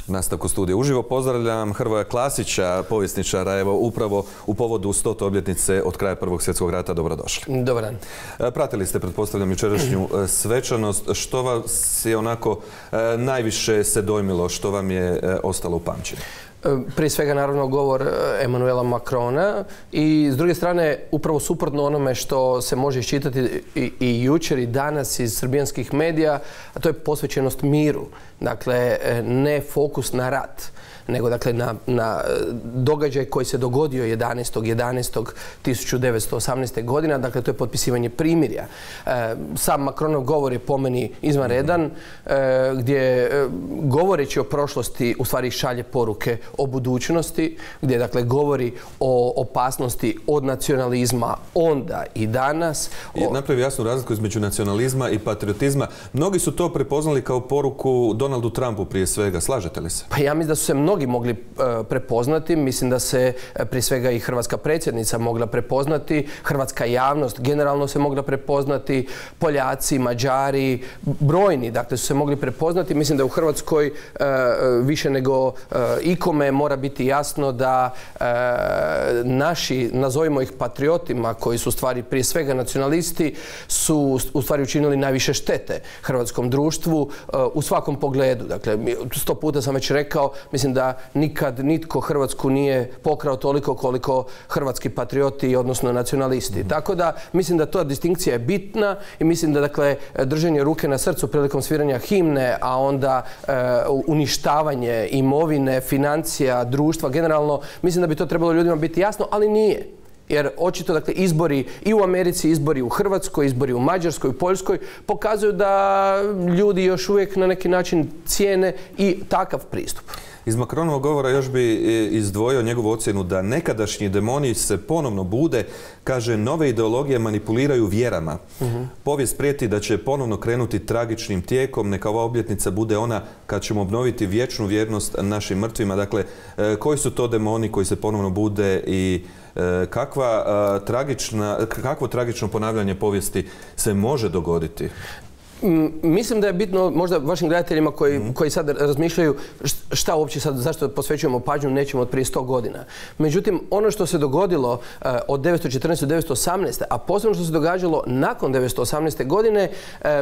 Nastavku studija uživo pozdravljam Hrvoja Klasića, povjesničara, evo upravo u povodu 100. obljetnice od kraja Prvog svjetskog rata. Dobrodošli. Dobar dan. Pratili ste, pretpostavljam, jučerašnju svečanost. Što vas je onako najviše se dojmilo, što vam je ostalo u pamćenju? Prije svega, naravno, govor Emmanuela Macrona i, s druge strane, upravo suprotno onome što se može iščitati i jučer i danas iz srbijanskih medija, a to je posvećenost miru. Dakle, ne fokus na rat, nego dakle na događaj koji se dogodio 11.11.1918. godine. Dakle, to je potpisivanje primirja. Sam Macronov govor je po meni izvanredan, gdje govoreći o prošlosti u stvari šalje poruke o budućnosti, gdje dakle govori o opasnosti od nacionalizma onda i danas. Napravi jasnu razliku između nacionalizma i patriotizma. Mnogi su to prepoznali kao poruku Donaldu Trumpu prije svega. Slažete li se? Pa ja mislim da su se mnogi mogli prepoznati. Mislim da se prije svega i hrvatska predsjednica mogla prepoznati, hrvatska javnost generalno se mogla prepoznati, Poljaci, Mađari, brojni dakle su se mogli prepoznati. Mislim da u Hrvatskoj više nego ikome mora biti jasno da naši, nazovimo ih patriotima, koji su u stvari prije svega nacionalisti, su u stvari učinili najviše štete hrvatskom društvu u svakom pogledu. Dakle, 100 puta sam već rekao, mislim da nikad nitko Hrvatsku nije pokrao toliko koliko hrvatski patrioti, odnosno nacionalisti. Tako da mislim da ta distinkcija je bitna i mislim da dakle držanje ruke na srcu prilikom sviranja himne, a onda uništavanje imovine, financija, društva generalno, mislim da bi to trebalo ljudima biti jasno, ali nije. Jer očito dakle izbori i u Americi, izbori u Hrvatskoj, izbori u Mađarskoj, u Poljskoj pokazuju da ljudi još uvijek na neki način cijene i takav pristup. Iz Macronovog govora još bi izdvojio njegovu ocjenu da nekadašnji demoni se ponovno bude, kaže, nove ideologije manipuliraju vjerama. Povijest prijeti da će ponovno krenuti tragičnim tijekom, neka ova obljetnica bude ona kad ćemo obnoviti vječnu vjernost našim mrtvima. Dakle, koji su to demoni koji se ponovno bude i kakvo tragično ponavljanje povijesti se može dogoditi? Mislim da je bitno možda vašim gledateljima koji sad razmišljaju šta uopće sad, zašto posvećujemo pažnju nečemu od prije 100 godina. Međutim, ono što se dogodilo od 1914. do 1918. a posebno što se događalo nakon 1918. godine,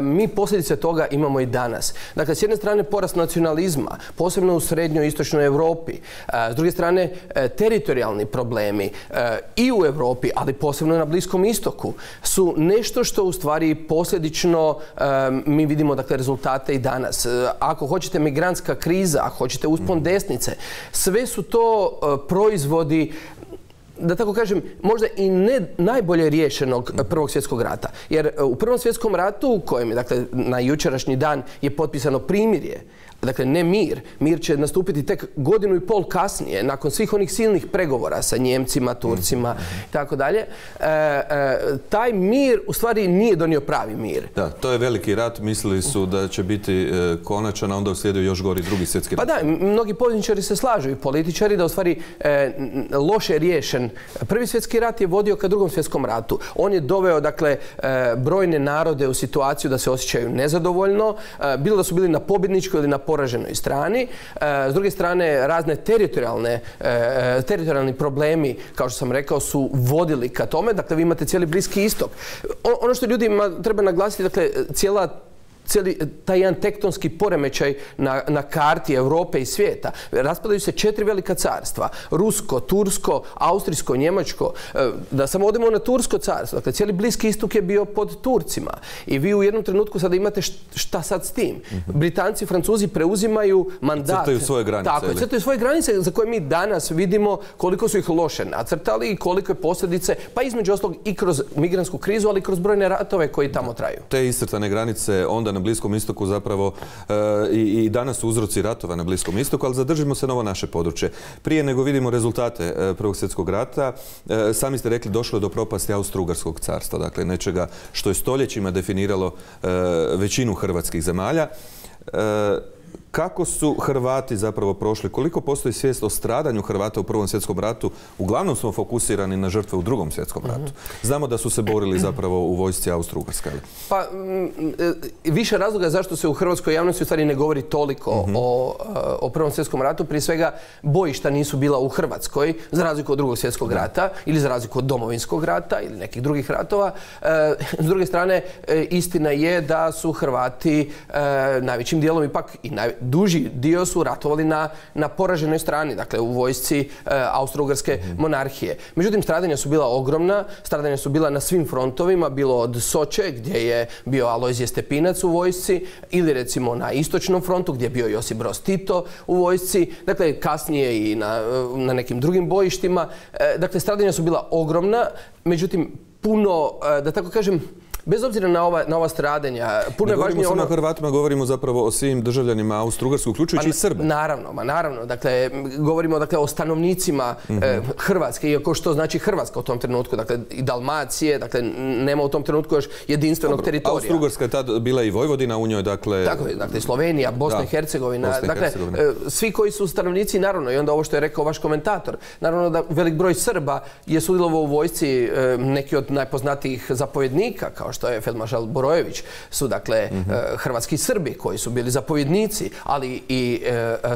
mi posljedice toga imamo i danas. Dakle, s jedne strane porast nacionalizma, posebno u srednjoj i istočnoj Europi. S druge strane, teritorijalni problemi i u Europi, ali posebno na Bliskom istoku, su nešto što u stvari posljedično mi vidimo dakle rezultate i danas. Ako hoćete migrantska kriza, ako hoćete uspon desnice, sve su to proizvodi, da tako kažem, možda i ne najbolje riješenog Prvog svjetskog rata. Jer u Prvom svjetskom ratu, u kojem je dakle na jučerašnji dan je potpisano primirje, dakle ne mir, mir će nastupiti tek 1,5 godinu kasnije, nakon svih onih silnih pregovora sa Njemcima, Turcima i tako dalje, taj mir u stvari nije donio pravi mir. Da, to je veliki rat, mislili su da će biti konačan, a onda uslijedio još gori Drugi svjetski rat. Pa da, mnogi povjesničari se slažu i političari da u stvari loše riješen Prvi svjetski rat je vodio ka Drugom svjetskom ratu. On je doveo dakle brojne narode u situaciju da se osjećaju nezadovoljno, bilo da su bili na pobjedničkoj ili na poraženoj strani. S druge strane, razne teritorijalni problemi, kao što sam rekao, su vodili ka tome. Dakle, vi imate cijeli Bliski istok. Ono što ljudima treba naglasiti, dakle, cijeli taj jedan tektonski poremećaj na karti Europe i svijeta. Raspadaju se 4 velika carstva. Rusko, Tursko, Austrijsko, Njemačko. Da samo odemo na Tursko carstvo. Dakle, cijeli Bliski istok je bio pod Turcima. I vi u jednom trenutku sada imate šta sad s tim. Britanci i Francuzi preuzimaju mandat. Crtaju svoje granice. Tako, crtaju svoje granice za koje mi danas vidimo koliko su ih loše nacrtali i koliko je posljedice, pa između ostalog i kroz migrantsku krizu, ali i kroz brojne ratove koji tamo traju. Te iscrtane granice onda na Bliskom istoku zapravo i danas su uzroci ratova na Bliskom istoku, ali zadržimo se na ovo naše područje. Prije nego vidimo rezultate Prvog svjetskog rata, sami ste rekli došlo je do propasti Austro-Ugarskog carstva, dakle nečega što je stoljećima definiralo većinu hrvatskih zemalja. Kako su Hrvati zapravo prošli? Koliko postoji svijest o stradanju Hrvata u Prvom svjetskom ratu? Uglavnom smo fokusirani na žrtve u Drugom svjetskom ratu. Znamo da su se borili zapravo u vojsci Austro-Ugarske. Pa, više razloga zašto se u hrvatskoj javnosti u stvari ne govori toliko o Prvom svjetskom ratu. Prije svega, bojišta nisu bila u Hrvatskoj, za razliku od Drugog svjetskog rata ili za razliku od Domovinskog rata ili nekih drugih ratova. S druge strane, istina je da su Hrvati najvećim dijelom ipak i duži dio su ratovali na poraženoj strani, dakle u vojsci Austro-Ugarske monarhije. Međutim, stradanja su bila ogromna, stradanja su bila na svim frontovima, bilo od Soče gdje je bio Alojzije Stepinac u vojsci ili recimo na istočnom frontu gdje je bio Josip Broz Tito u vojsci, dakle kasnije i na nekim drugim bojištima. Dakle, stradanja su bila ogromna, međutim puno, da tako kažem, bez obzira na ova stradanja, puno je važnije ono... Ne govorimo samo o Hrvatima, govorimo zapravo o svim državljanima Austro-Ugarske, uključujući i Srbe. Naravno. Dakle, govorimo o stanovnicima Hrvatske, iako što znači Hrvatska u tom trenutku, dakle i Dalmacije, dakle nema u tom trenutku još jedinstvenog teritorija. Austro-Ugarska je tad bila i Vojvodina u njoj, dakle... Tako je, dakle Slovenija, Bosna i Hercegovina, dakle svi koji su stanovnici, naravno, i onda ovo što je rekao vaš komentator, naravno da velik broj Srba je sudjelovao u vojsci, neki od najpoznatijih zapovjednika, kao što je feldmaršal Borojević, su dakle hrvatski Srbi koji su bili zapovjednici, ali i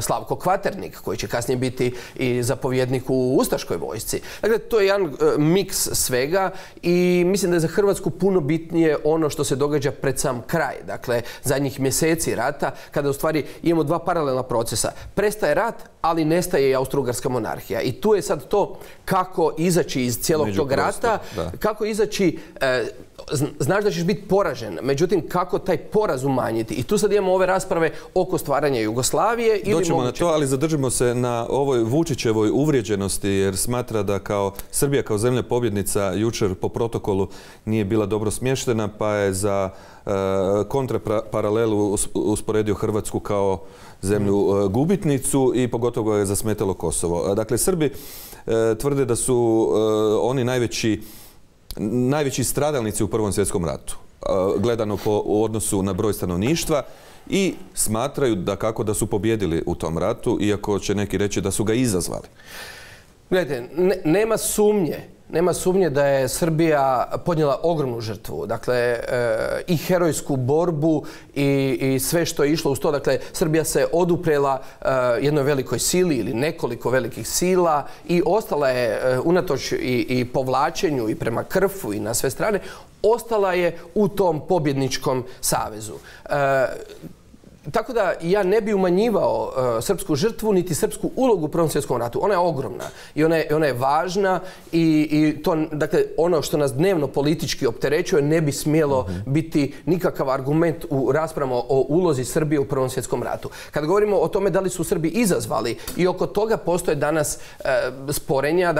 Slavko Kvaternik koji će kasnije biti i zapovjednik u ustaškoj vojsci. Dakle, to je jedan miks svega i mislim da je za Hrvatsku puno bitnije ono što se događa pred sam kraj. Dakle, zadnjih mjeseci rata, kada u stvari imamo dva paralelna procesa. Prestaje rat, ali nestaje i Austro-Ugarska monarhija. I tu je sad to kako izaći iz cijelog tog rata, kako izaći... Znaš da ćeš biti poražen, međutim kako taj poraz umanjiti. I tu sad imamo ove rasprave oko stvaranja Jugoslavije ili moguće... Doćemo na to, ali zadržimo se na ovoj Vučićevoj uvrijeđenosti jer smatra da kao Srbija kao zemlja pobjednica jučer po protokolu nije bila dobro smještena, pa je za kontraparalelu usporedio Hrvatsku kao zemlju gubitnicu i pogotovo je zasmetalo Kosovo. Dakle, Srbi tvrde da su oni najveći stradalnici u Prvom svjetskom ratu, gledano u odnosu na broj stanovništva i smatraju da su pobjedili u tom ratu, iako će neki reći da su ga izazvali. Gledajte, nema sumnje da je Srbija podnijela ogromnu žrtvu. Dakle, i herojsku borbu i sve što je išlo uz to. Dakle, Srbija se oduprela jednoj velikoj sili ili nekoliko velikih sila i ostala je, unatoč i povlačenju i prema Krfu i na sve strane, ostala je u tom pobjedničkom savezu. Tako da ja ne bi umanjivao srpsku žrtvu niti srpsku ulogu u Prvom svjetskom ratu. Ona je ogromna i ona je važna i to, dakle, ono što nas dnevno politički opterećuje ne bi smjelo biti nikakav argument u raspravama o ulozi Srbije u Prvom svjetskom ratu. Kad govorimo o tome da li su Srbi izazvali i oko toga postoje danas sporenja,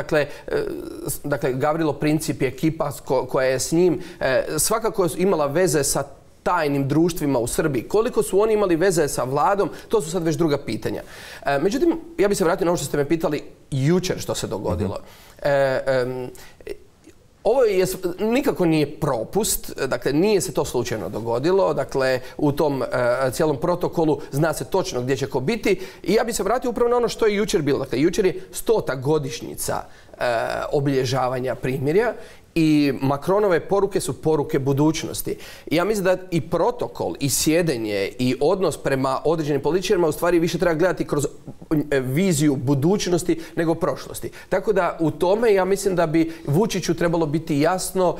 dakle Gavrilo Princip i ekipa koja je s njim svakako imala veze sa tajnim društvima u Srbiji. Koliko su oni imali veze sa vladom, to su sad već druga pitanja. Međutim, ja bih se vratio na ovo što ste me pitali jučer što se dogodilo. Ovo nikako nije propust, dakle nije se to slučajno dogodilo, dakle u tom cijelom protokolu zna se točno gdje će ko biti i ja bih se vratio upravo na ono što je jučer bilo. Dakle, jučer je 100. godišnjica obilježavanja primirja i Macronove poruke su poruke budućnosti. I ja mislim da i protokol, i sjedenje, i odnos prema određenim političarima u stvari više treba gledati kroz viziju budućnosti nego prošlosti. Tako da u tome ja mislim da bi Vučiću trebalo biti jasno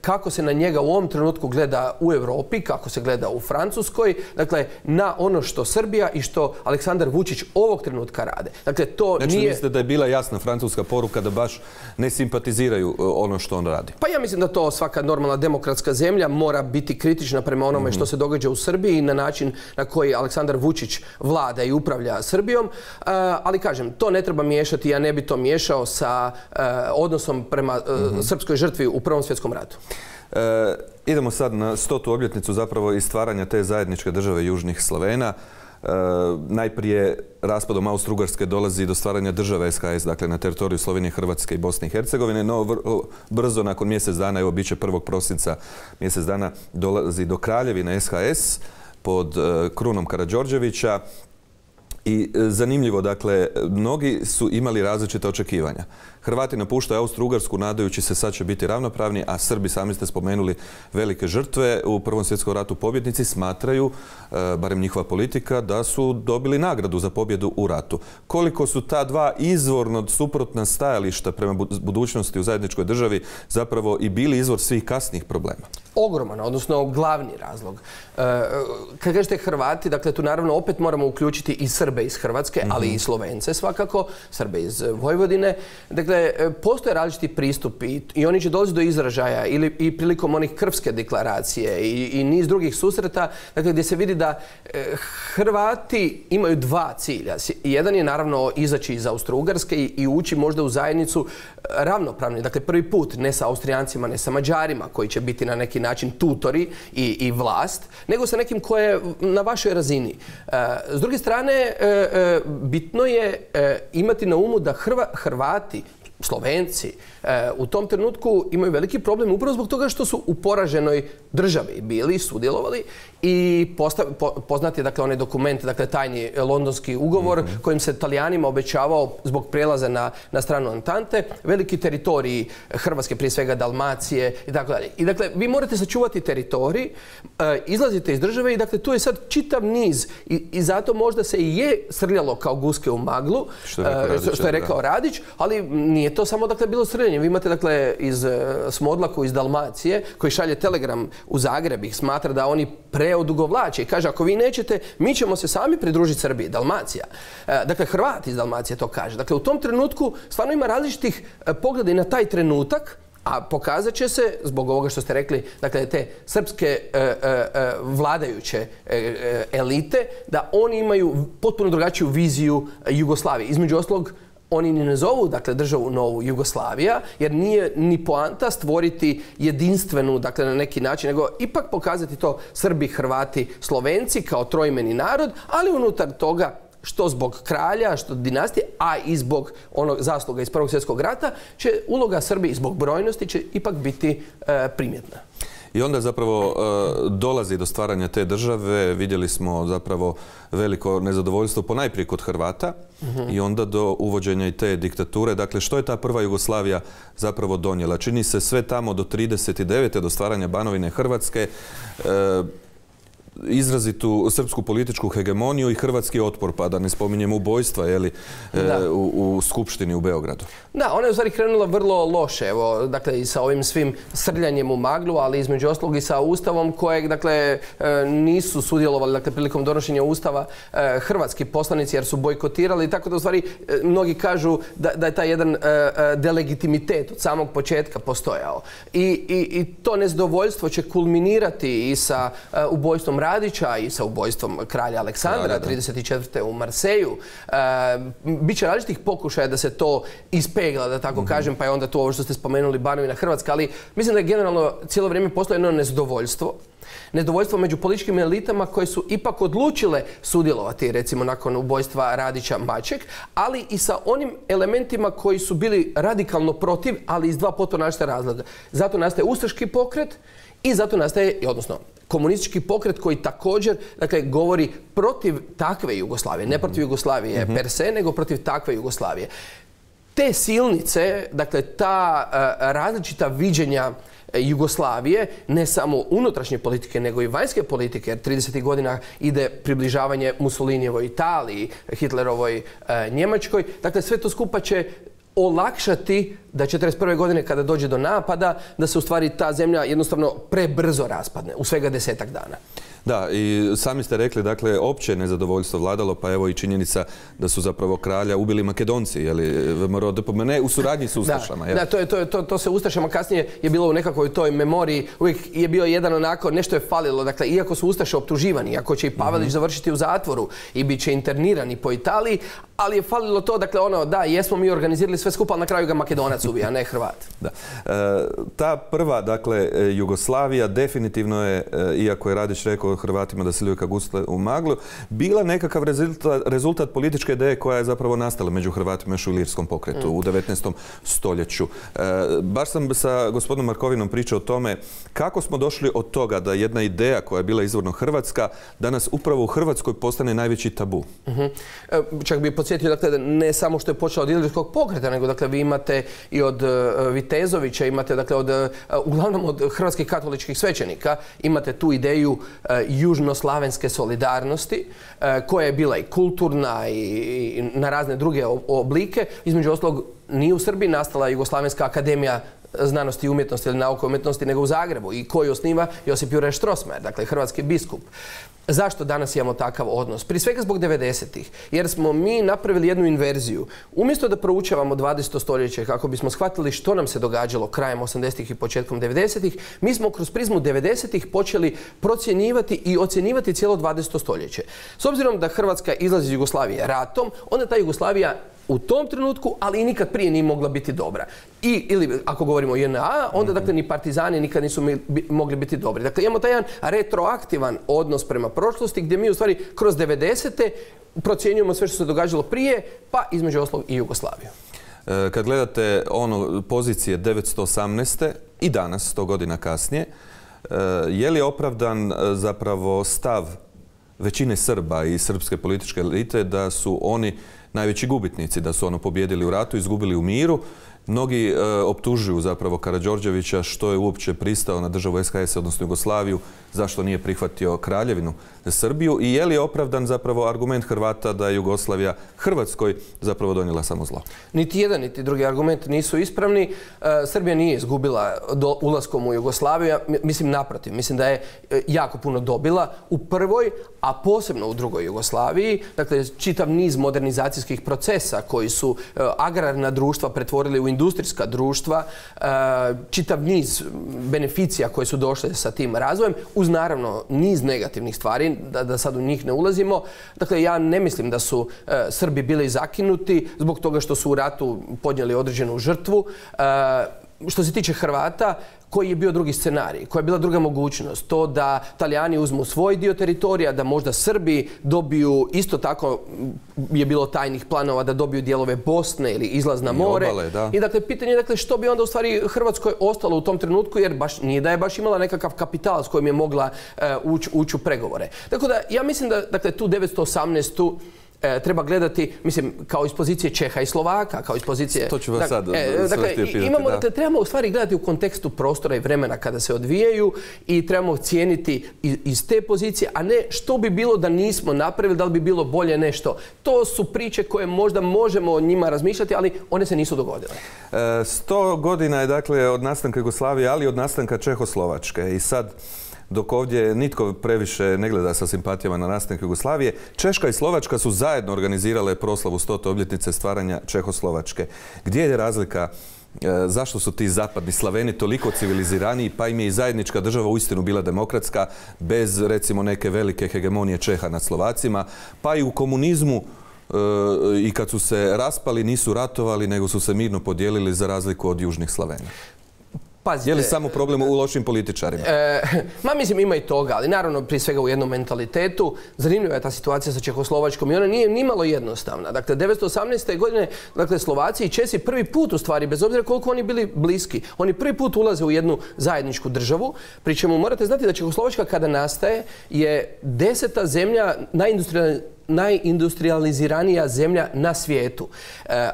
kako se na njega u ovom trenutku gleda u Europi, kako se gleda u Francuskoj, dakle na ono što Srbija i što Aleksandar Vučić ovog trenutka rade. Dakle, to znači, nije... mislite da je bila jasna francuska poruka da baš ne simpatiziraju ono što on radi? Pa ja mislim da to svaka normalna demokratska zemlja mora biti kritična prema onome što se događa u Srbiji i na način na koji Aleksandar Vučić vlada i upravlja Srbijom. Ali kažem, to ne treba miješati, ja ne bi to miješao sa odnosom prema srpskoj žrtvi u Prvom svjetskom ratu. Idemo sad na 100. obljetnicu zapravo i stvaranja te zajedničke države Južnih Slavena. Najprije raspadom Austro-Ugarske dolazi do stvaranja države SHS, dakle na teritoriju Slovenije, Hrvatske i Bosne i Hercegovine, no brzo nakon mjesec dana, evo bit će 1. prosinca mjesec dana, dolazi do kraljevine SHS pod Krunom Karađorđevića. I zanimljivo, dakle, mnogi su imali različita očekivanja. Hrvati napuštaju Austro-Ugarsku nadajući se sad će biti ravnopravni, a Srbi, sami ste spomenuli, velike žrtve u Prvom svjetskom ratu pobjednici, smatraju, barem njihova politika, da su dobili nagradu za pobjedu u ratu. Koliko su ta dva izvorno suprotna stajališta prema budućnosti u zajedničkoj državi zapravo i bili izvor svih kasnijih problema? Ogroman, odnosno glavni razlog. Kad kažete Hrvati, dakle tu naravno opet moramo uključiti i Srbe iz Hrvatske, ali i Slovence svakako, Srbe iz Vojvodine. Dakle, postoje različiti pristupi i oni će dolaziti do izražaja i prilikom onih Krfske deklaracije i niz drugih susreta, dakle gdje se vidi da Hrvati imaju dva cilja. Jedan je naravno izaći iz Austro-Ugarske i ući možda u zajednicu ravnopravni, dakle prvi put ne sa Austrijancima, ne sa Mađarima koji će biti na neki način tutori i vlast, nego sa nekim koje je na vašoj razini. S druge strane, bitno je imati na umu da Hrvati, Slovenci u tom trenutku imaju veliki problem upravo zbog toga što su u poraženoj državi bili, sudjelovali i poznat je dakle onaj dokument, dakle tajni londonski ugovor kojim se Talijanima obećavao zbog prelaza na stranu Antante veliki teritoriji Hrvatske, prije svega Dalmacije i tako dalje. I dakle vi morate sačuvati teritorij, izlazite iz države i dakle tu je sad čitav niz i zato možda se i je srljalo kao guske u maglu, što je rekao Radić, ali nije to samo dakle bilo srljanje. Vi imate dakle iz Smodlaku iz Dalmacije koji šalje telegram u Zagreb i smatra da oni preodugovlače i kaže ako vi nećete, mi ćemo se sami pridružiti Srbiji, Dalmacija. Dakle, Hrvati iz Dalmacije to kaže. Dakle, u tom trenutku stvarno ima različitih pogleda i na taj trenutak, a pokazat će se, zbog ovoga što ste rekli, dakle, te srpske vladajuće elite, da oni imaju potpuno drugačiju viziju Jugoslavije. Između ostalog, oni ne zovu, dakle, državu novu Jugoslavija, jer nije ni poanta stvoriti jedinstvenu, dakle, na neki način, nego ipak pokazati to Srbi, Hrvati, Slovenci kao trojmeni narod, ali unutar toga što zbog kralja, što dinastije, a i zbog onog zasluga iz Prvog svjetskog rata, će uloga Srbije zbog brojnosti će ipak biti primjetna. I onda zapravo dolazi do stvaranja te države, vidjeli smo zapravo veliko nezadovoljstvo ponajprije kod Hrvata i onda do uvođenja i te diktature. Dakle, što je ta prva Jugoslavija zapravo donijela? Čini se sve tamo do 1939. do stvaranja Banovine Hrvatske, izrazitu srpsku političku hegemoniju i hrvatski otpor, pa da ne spominjemo ubojstva u Skupštini u Beogradu. Da, ona je u stvari krenula vrlo loše, evo, dakle i sa ovim svim srljanjem u maglu, ali između ostalog i sa Ustavom kojeg, dakle, nisu sudjelovali, dakle, prilikom donošenja Ustava hrvatski poslanici jer su bojkotirali, tako da u stvari mnogi kažu da je taj jedan delegitimitet od samog početka postojao. I to nezadovoljstvo će kulminirati i sa ubojstvom Radića i sa ubojstvom kralja Aleksandra 1934. u Marseju. Biće različitih pokušaja da se to ispegla, da tako kažem, pa je onda tu ovo što ste spomenuli Banovina Hrvatska, ali mislim da je generalno cijelo vrijeme postoje jedno nezadovoljstvo. Nezadovoljstvo među političkim elitama koje su ipak odlučile sudjelovati, recimo nakon ubojstva Radića Maček, ali i sa onim elementima koji su bili radikalno protiv, ali iz dva potpuno različita razloga. Zato nastaje ustaški pokret i zato nastaje, odnosno komunistički pokret koji također, dakle, govori protiv takve Jugoslavije, ne protiv Jugoslavije per se, nego protiv takve Jugoslavije. Te silnice, dakle, ta različita viđenja Jugoslavije, ne samo unutrašnje politike, nego i vanjske politike, jer 30. godina ide približavanje Mussolinijevoj Italiji, Hitlerovoj Njemačkoj, dakle, sve to skupa će olakšati da 1941. godine kada dođe do napada, da se u stvari ta zemlja jednostavno prebrzo raspadne u svega 10-ak dana. Da, i sami ste rekli, dakle, opće nezadovoljstvo vladalo, pa evo i činjenica da su zapravo kralja ubili Makedonci, ne u suradnji s ustašama. Da, to se ustašama kasnije je bilo u nekakvoj toj memoriji, uvijek je bio jedan onako, nešto je falilo, dakle, iako su ustaše optuživani, iako će i Pavelić završiti u zatvoru i bit će internirani po Italiji, ali je falilo to, dakle da, jesmo mi organizirali sve skupa, ali na kraju ga Makedonac ubija, a ne Hrvat. Da. Ta prva, dakle, Jugoslavija definitivno je, iako je Radić rekao Hrvatima da se ljuju kao gusle u maglu, bila nekakav rezultat političke ideje koja je zapravo nastala među Hrvatima još u Ilirskom pokretu u 19. stoljeću. Baš sam sa gospodinom Markovinom pričao o tome kako smo došli od toga da jedna ideja koja je bila izvorno hrvatska danas upravo u Hrvatskoj postane najveći tabu. Čak bih podsjetio, dakle, ne samo što je počelo od Ilirskog pokreta, nego dakle vi imate i od Vitezovića, imate dakle uglavnom od hrvatskih katoličkih svećenika, imate tu ideju južnoslavenske solidarnosti koja je bila i kulturna i na razne druge oblike. Između ostalog, nije u Srbiji nastala Jugoslavenska akademija znanosti i umjetnosti ili nauke i umjetnosti, nego u Zagrebu, i koji osniva Josip Juraj Strossmayer, dakle hrvatski biskup. Zašto danas imamo takav odnos? Prije svega zbog 90-ih, jer smo mi napravili jednu inverziju. Umjesto da proučavamo 20. stoljeće kako bismo shvatili što nam se događalo krajem 80-ih i početkom 90-ih, mi smo kroz prizmu 90-ih počeli procjenjivati i ocjenjivati cijelo 20. stoljeće. S obzirom da Hrvatska izlazi iz Jugoslavije ratom, onda ta Jugoslavija u tom trenutku, ali i nikad prije nije mogla biti dobra. Ili ako govorimo o JNA, onda dakle ni partizani nikad nisu mogli biti dobri. Dakle, imamo taj jedan retroaktivan odnos prema prošlosti gdje mi u stvari kroz 90-te procjenjujemo sve što se događalo prije, pa između ostalog i Jugoslaviju. Kad gledate pozicije 918. i danas, 100 godina kasnije, je li opravdan zapravo stav većine Srba i srpske političke elite da su oni najveći gubitnici, da su pobijedili u ratu, izgubili u miru? Mnogi optužuju zapravo Karađorđevića što je uopće pristao na državu SHS, odnosno Jugoslaviju, zašto nije prihvatio Kraljevinu Srbiju, i je li opravdan zapravo argument Hrvata da je Jugoslavija Hrvatskoj zapravo donijela samo zlo? Niti jedan, niti drugi argument nisu ispravni. Srbija nije izgubila ulaskom u Jugoslaviju, mislim naprotiv, mislim da je jako puno dobila u prvoj, a posebno u drugoj Jugoslaviji. Dakle, čitav niz modernizacijskih procesa koji su agrarna društva pretvorili u industrijska društva, čitav niz beneficija koje su došle sa tim razvojem, uz naravno niz negativnih stvari, da sad u njih ne ulazimo. Dakle, ja ne mislim da su Srbi bili zakinuti zbog toga što su u ratu podnijeli određenu žrtvu. Što se tiče Hrvata, koji je bio drugi scenarij, koja je bila druga mogućnost, to da Talijani uzmu svoj dio teritorija, da možda Srbi dobiju, isto tako je bilo tajnih planova da dobiju dijelove Bosne ili izlaz na more. Obale, da. I dakle, pitanje je dakle, što bi onda u stvari Hrvatskoj ostalo u tom trenutku, jer baš nije da je baš imala nekakav kapital s kojim je mogla ući u pregovore. Tako da ja mislim da dakle, tu 918. treba gledati, mislim, kao iz pozicije Čeha i Slovaka, kao iz pozicije... To ću vas sad imamo, dakle, trebamo u stvari gledati u kontekstu prostora i vremena kada se odvijaju i trebamo cijeniti iz te pozicije, a ne što bi bilo da nismo napravili, da li bi bilo bolje nešto. To su priče koje možda možemo o njima razmišljati, ali one se nisu dogodile. 100 godina je, dakle, od nastanka Jugoslavije, ali od nastanka Čehoslovačke. I sad, dok ovdje nitko previše ne gleda sa simpatijama na nastanak Jugoslavije, Češka i Slovačka su zajedno organizirale proslavu 100. obljetnice stvaranja Čehoslovačke. Gdje je razlika? Zašto su ti zapadni Slaveni toliko civiliziraniji, pa im je i zajednička država uistinu bila demokratska, bez recimo neke velike hegemonije Čeha nad Slovacima, pa i u komunizmu i kad su se raspali nisu ratovali, nego su se mirno podijelili za razliku od južnih Slavena. Pazite, je li samo problem u lošim političarima? Mislim, ima i toga, ali naravno prije svega u jednom mentalitetu. Zanimljiva je ta situacija sa Čehoslovačkom i ona nije nimalo jednostavna. Dakle, 1918. godine, dakle, Slovaci i Česi prvi put u stvari, bez obzira koliko oni bili bliski, oni prvi put ulaze u jednu zajedničku državu, pri čemu morate znati da Čehoslovačka kada nastaje je 10. zemlja najindustrializiranija zemlja na svijetu.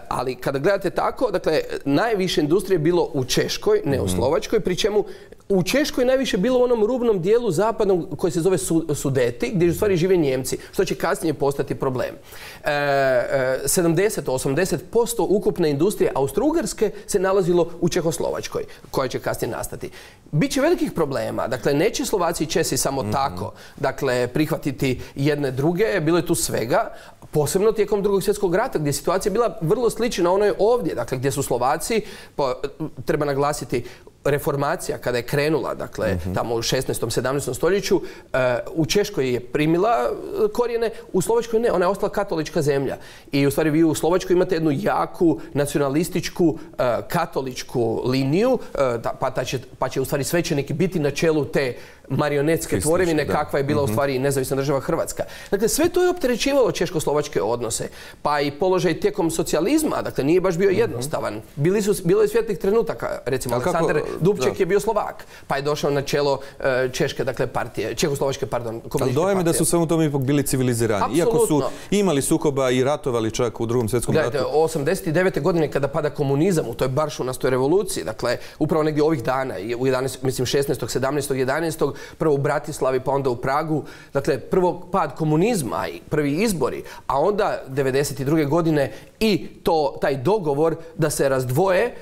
Ali kada gledate tako, dakle, najviše industrije je bilo u Češkoj, ne u Slovačkoj, pri čemu u Češkoj najviše bilo u onom rubnom dijelu zapadnog koji se zove Sudeti, gdje u stvari žive Njemci, što će kasnije postati problem. 70-80% ukupne industrije Austro-Ugarske se nalazilo u Čehoslovačkoj, koja će kasnije nastati. Biće velikih problema. Dakle, neće Slovaci i Česi samo tako, dakle, prihvatiti jedne druge. Bilo je tu svega, posebno tijekom Drugog svjetskog rata, gdje je situacija bila vrlo slična onoj ovdje, dakle, gdje su Slovaci, treba naglasiti, reformacija kada je krenula, dakle, tamo u 16. 17. stoljeću, u Češkoj je primila korijene, u Slovačkoj ne, ona je ostala katolička zemlja. I u stvari vi u Slovačkoj imate jednu jaku nacionalističku katoličku liniju, pa će u stvari svećenik biti na čelu te marionetske tvorevine kakva je bila u stvari nezavisna država Hrvatska. Dakle, sve to je opterećivalo češko-slovačke odnose. Pa i položaj tijekom socijalizma, dakle, nije baš bio jednostavan. Bilo je svijetlih trenutaka, recimo Aleksandar Dubček je bio Slovak, pa je došao na čelo češke, dakle, partije, čehoslovačke, pardon, komunističke partije. Ali dojem je da su svemu tome ipak bili civilizirani. Iako su imali sukoba i ratovali čak u Drugom svjetskom ratu. Gledajte, 89. godine kada pada komunizam u toj baršunastoj revoluciji, dakle, upravo negdje ovih dana, u 16. 17. 11. prvo u Bratislavi, pa onda u Pragu, dakle, prvo pad komunizma i prvi izbori, a onda 92. godine i taj dogovor da se razdvoje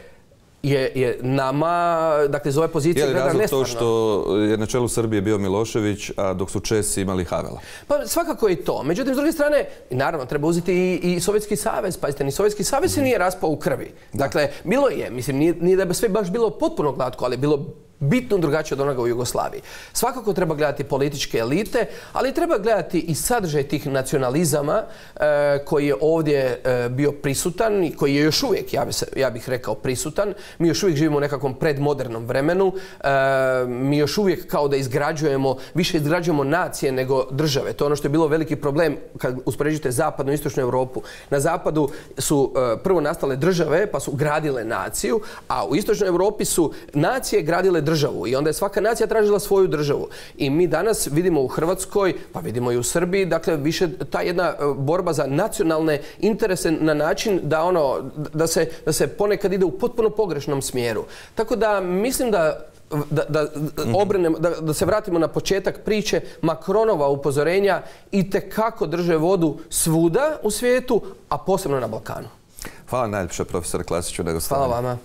je nama, dakle, iz ove pozicije gleda nestvarno. Je li razlog to što je na čelu Srbije bio Milošević, a dok su Česi imali Havela? Pa svakako je i to. Međutim, s druge strane, naravno, treba uzeti i Sovjetski savez. Pazite, ni Sovjetski savez se nije raspao u krvi. Dakle, bilo je, mislim, nije da bi sve baš bilo potpuno glatko, ali je bilo bitno drugačije od onoga u Jugoslaviji. Svakako treba gledati političke elite, ali treba gledati i sadržaj tih nacionalizama koji je ovdje bio prisutan i koji je još uvijek, ja bih rekao, prisutan. Mi još uvijek živimo u nekakvom predmodernom vremenu. Mi još uvijek kao da više izgrađujemo nacije nego države. To je ono što je bilo veliki problem kad uspoređujete zapadnu i istočnu Europu. Na zapadu su prvo nastale države pa su gradile naciju, a u istočnoj Europi su nacije gradile državu i onda je svaka nacija tražila svoju državu. I mi danas vidimo u Hrvatskoj, pa vidimo i u Srbiji, dakle, više ta jedna borba za nacionalne interese na način da se ponekad ide u potpuno pogrešnom smjeru. Tako da mislim da se vratimo na početak priče, Macronova upozorenja itekako drže vodu svuda u svijetu, a posebno na Balkanu. Hvala najljepše, profesore Klasiću. Hvala vama.